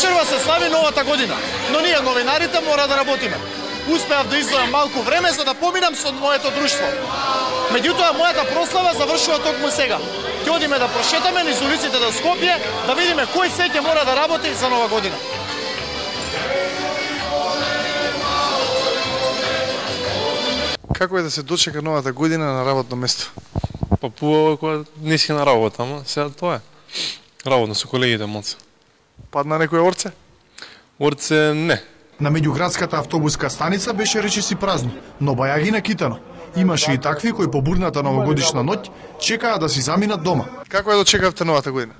вечерва се слави новата година, но ние новинарите мора да работиме. Успеав да издвојам малку време за да поминам со моето друштво. Меѓутоа, мојата прослава завршува токму сега. Ќе одиме да прошетаме низ улиците на Скопје, да видиме кој се ќе мора да работи за нова година. Како е да се дочека новата година на работно место? Па пубаво кога не си на работа, ама сега тоа е. Работно со колегите моц. Падна некој орце? Орце не. На меѓуградската автобуска станица беше речиси празно, но бајаги накитано. Имаше и такви кои по бурната новогодишна ноќ чекаа да си заминат дома. Како е дочекавте новата година?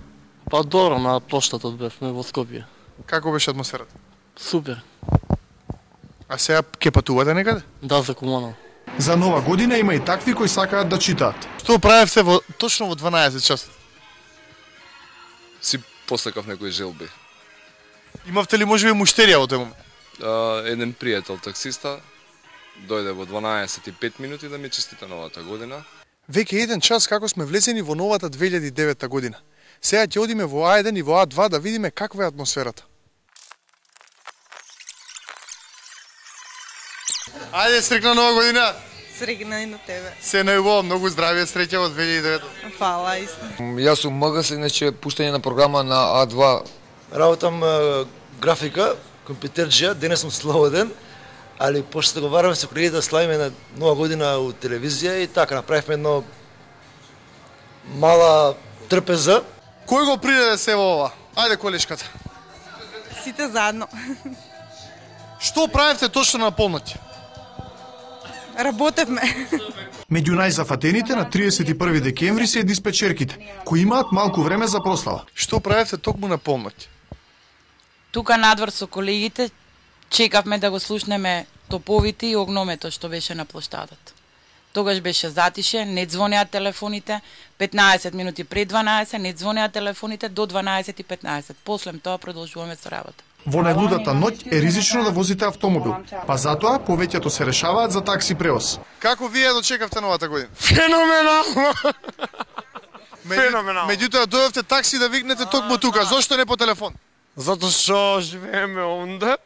Па добро, на плоштатот бевме во Скопје. Како беше атмосферата? Супер. А сега ќе патувате некаде? Да, за Куманово. За нова година има и такви кои сакаат да читаат. Што правевте точно во 12 часа? Си посакав некои желби. Имавте ли можеби муштерија во тој момент? Еден пријател таксиста дојде во 12:05 минути да ми честита новата година. Веќе еден час како сме влезени во новата 2009 година. Сега ќе одиме во А1 и во А2 да видиме каква е атмосферата. Ајде, срекна нова година! Срекна и на тебе. Се најубаво, многу здравје, среќа во 2009. Фала, истина. Јас сум МГС, иначе пуштање на програма на А2. Работам графика, компјутерџија, денес сум слободен, али пошто договараме со колегите да славиме на нова година у телевизија и така направивме едно мала трпеза. Кој го приреде се во ова? Ајде колешката. Сите заедно. Што правевте точно на полноќ? Работевме. Меѓу најзафатените на 31 декември се диспечерките, кои имаат малку време за прослава. Што правевте токму на полноќ? Тука надвор со колегите чекавме да го слушнеме топовите и огномето што беше на плоштадот. Тогаш беше затише, не звонеа телефоните, 15 минути пред 12, не звонеа телефоните до 12:15. После тоа продолжуваме со работа. Во најлудата ноќ е ризично да возите автомобил, па затоа повеќето се решаваат за такси превоз. Како вие дочекавте новата година? Феноменално! Феноменално. Меѓутоа дојдовте такси да викнете токму тука, зошто не по телефон? Затоа што живееме онде.